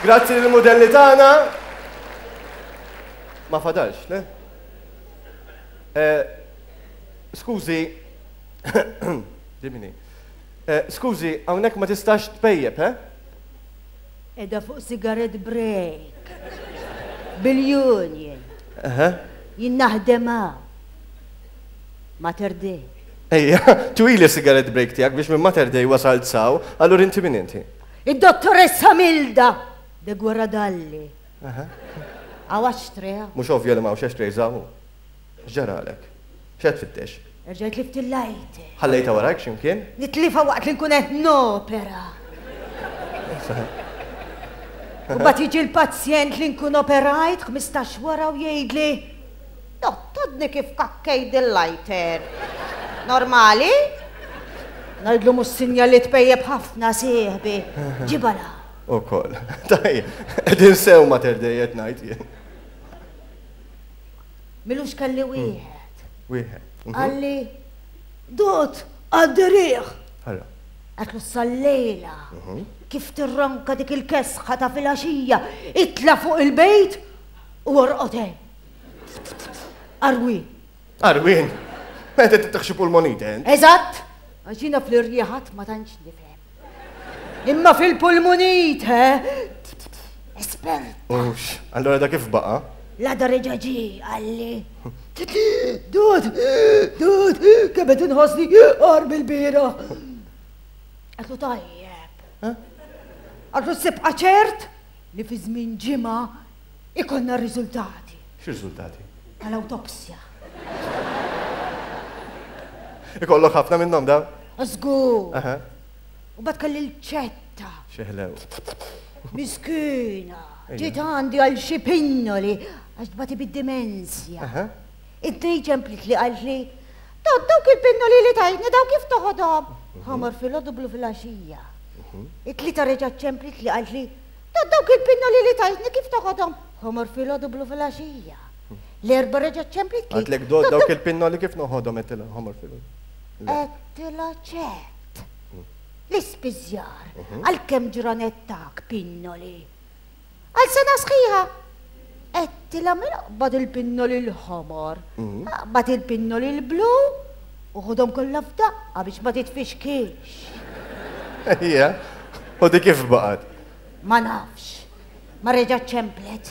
Grazzi lill-mudelli tagħna. Ma fadalx, le? Eh, skużi, dimini. Eh, skużi, hawnhekk ma tistax tpejjep, eh? Qiegħda fuq cigarette break. Bil-union. Jien naħdem hawn. Mater Dei. Ejja, twili cigarette break tiegħek biex minn Mater Dei wasalt saw, allura inti min inti? Id-dottoressa Milda de Guarradalli. Hawn ashtray hawn. Mhux ovvja li m'hawnx ashtrays hawn. X'ġaralek? X'qed tfittex? Erġajt tlift il-lighter. Ħallejtha warajk xi mkien? Nitlifha waqt li nkun qed nopera. U mbagħad jiġi l-pazjent li nkun operajt 15 wara u jgħidli, Dott, għadni kif kakkejt dil-lighter. Normali? Ngħidlu mhux sinjal li tpejjep ħafna sieħbi. Ġibha 'l hawn. Ukoll. Tajjeb, qegħdin sew Mater Dei qed ngħid jien. M'ilux kelli wieħed. Wieħed. Qalli, Dott, għaddi riħ. Ara. Għedtlu sal-lejla, kif tirronka dik il-kesħa ta' filgħaxija, itla' fuq il-bejt u orqod hemm. Arwien. Arwien? Meta titħ xi pulmonite, int? Eżatt! Għax jiena fl-irjieħat ma tantx nifhem. Imma fil-pulmonite, espert. Ux, allora da kif baqa? L-għada reġa' ġie, qalli. Dud, dud, kemm qed inħossni agħar mill-bieraħ. Għedtlu tajjeb. Għedtlu sibqa' ċert li fi żmien ġimgħa ikollna r-riżultati. X'riżultati? Tal-awtopsja. Ikollok ħafna minnhom dawn? Żgur. U bad kelli l-ċetta. Xi ħlew. Miskina. Ġiet għandi għal xi pinnoli għax tbati bid-dimensja. It-tnejn ċemplit li qaltli, Dott dawk il-pinnoli li tajtni daw kif toħodhom? Ħamar filgħodu blu filgħaxija. It-tlieta reġgħet ċemplit li qaltli, Dott dawk il-pinnoli li tajtni kif toħodhom? Ħomor filgħodu blu filgħaxija. L-Erbgħa reġgħet ċemplitli. Qaltlek dott dawk il-pinnoli kif noħodhom għedtilha ħomor filgħodu. Għedtilha ċert. L-ispiżjar għal kemm ġranet tak pinnoli? Għal sena sħiħa. Għedtilha mela aqbad il-pinnoli l-ħomor, aqbad il-pinnoli l-blu u ħodhom kollha f'daqqa biex ma titfixkilx. Ejja, u dik kif baqgħet? Ma nafx. Ma reġgħet ċemplet.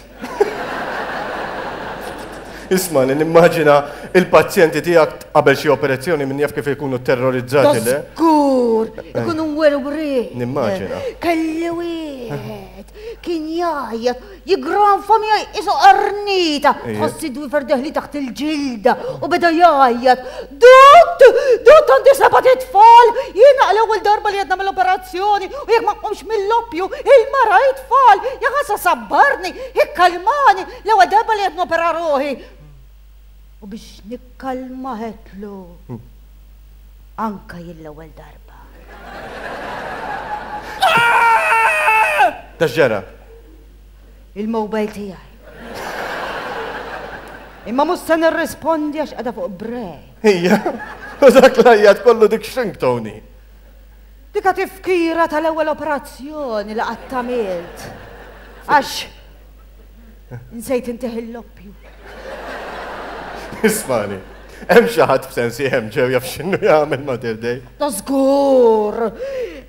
Isma' li nimmaġina il-pazjenti tiegħek qabel xi operazzjoni min jaf kif ikunu terrorizzati, le? Żgur, ikunu mwerwrin. Nimmaġina. Kelli wieħed, kien jgħajjat, Jiggranfa miegħi qisu qarnita, tħoss id-dwiefer deħli taħt il-ġilda u beda jgħajjat, Dott! Dott għandi sebat itfal! Jiena għal-ewwel darba li qed nagħmel operazzjoni u jekk ma nqumx mill-oppju, il-mara it-tfal! Ja ħasa sabbarni, ikkalmani, l-ewwel darba li qed nopera ruħi. U biex nikkalma għedtlu, Anka jien l-ewwel darba. Ta' x'ġara? Il-mobile tiegħi. Imma mhux se nirrispondi għax qiegħda fuq break. Ija, u dak l-għajjat kollu dik x'ring Tony. Dika tifkira tal-ewwel operazzjoni li qatt għamilt. Għax Nsejt intih il-loppju. Ismani, hemm xi ħadd f'sensi hemm ġew jaf x'inhu jagħmel Mater Dei? Ta' żgur!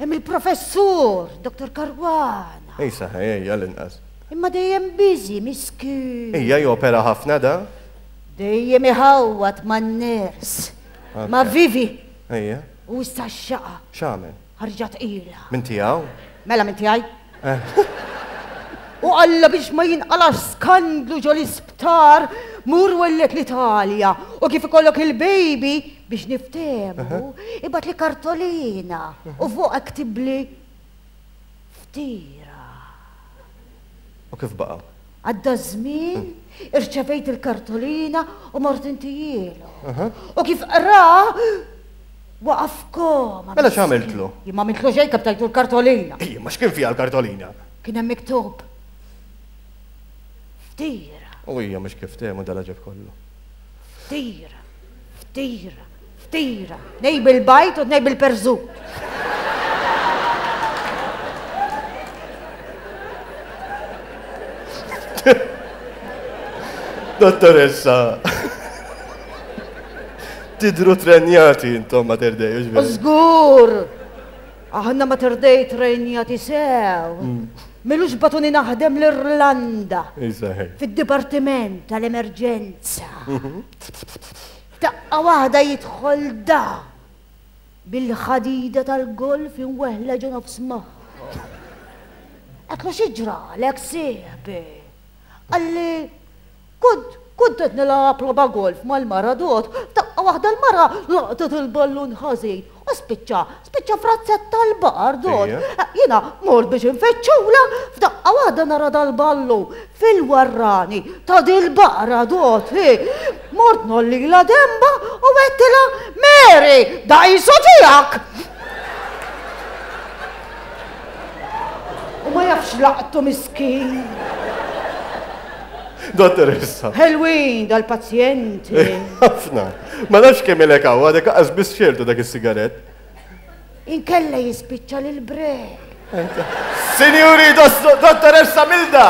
Hemm il-professur, Dr. Caruana. Ej saħ, ejja l-inqas. Imma dejjem busy, miskin. Ejja jopera ħafna da? Dejjem iħawwad man-ners. Ma' Vivi. Ejja. U issa x-xaqa. X'għamel? Ħarġa tqila. Minn tiegħu? Mela minn tiegħi. U Alla biex ma jinqalax skandlu ġo l-isptar, mur welled l-Italja u kif ikollok il-baby biex niftehmu, ibgħatli kartolina u fuqha ktibli ftira. U kif baqa'? Għadda ż-żmien, irċevejt il-kartolina u mort intijielu. U kif qra, waqa' f'koma. Mela x'għamiltlu? Jien ma għamiltlu xejn kemm tajtu l-kartolina. Ejja, ma x'kien fiha l-kartolina? Kien hemm miktub ftira. U hija mhux kif temu dal-għaġeb kollu. Ftira, ftira, ftira. Tnej bil-bajd u tnej bil-perżut. Dottoressa. Tidru trenjati intom Mater Dei, hux veru? Żgur! Aħna Mater Dei trenjati sew. M'ilux bagħtuni naħdem l-Irlanda. Fid-dipartiment tal-emerġenza. F'daqqa waħda jidħol da bil-ħadida tal-golf imweħħla ġo nofs moħħu. Għedtlu xi ġralek sieħbi? Qalli Kont, kont qed nilgħab logħba golf mal-mara Dot, f'daqqa waħda l-mara laqtet il-ballun ħażin u spiċċa, spiċċa f'razzett tal-baqar Dot. Jiena mort biex infittxulha, f'daqqa waħda nara dal-ballun fil-warrani ta' dil-baqra Dot, hi. Mort ngħollilha denbha u għedtilha, Mary, da qisu tiegħek! U ma jafx laqtu miskin. Dottoressa. Ħelwin dal-pazjenti. Ħafna. Ma nafx kemm ilek hawn, għadek qas biss xertu dak is-sigarett. Inkella jispiċċa lil break. Sinjuri, dottoressa Milda!